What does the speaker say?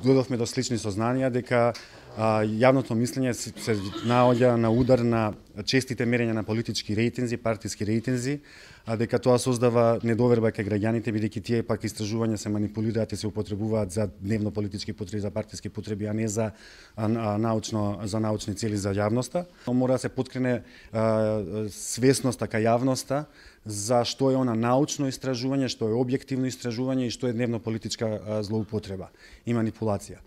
додовме до слични сознанија дека јавното мислење се наоѓа на удар на честите мерења на политички рейтинзи, партиски рейтинзи, дека тоа создава недоверба кај граѓаните, бидејќи тие пак истражувања се манипулираат и се употребуваат за дневно политички потреби, за партиски потреби, а не за научни цели за јавноста. Мора да се поткрене свесноста кај јавноста за што е она научно истражување, што е објективно истражување и што е дневно политичка злоупотреба и манипулација.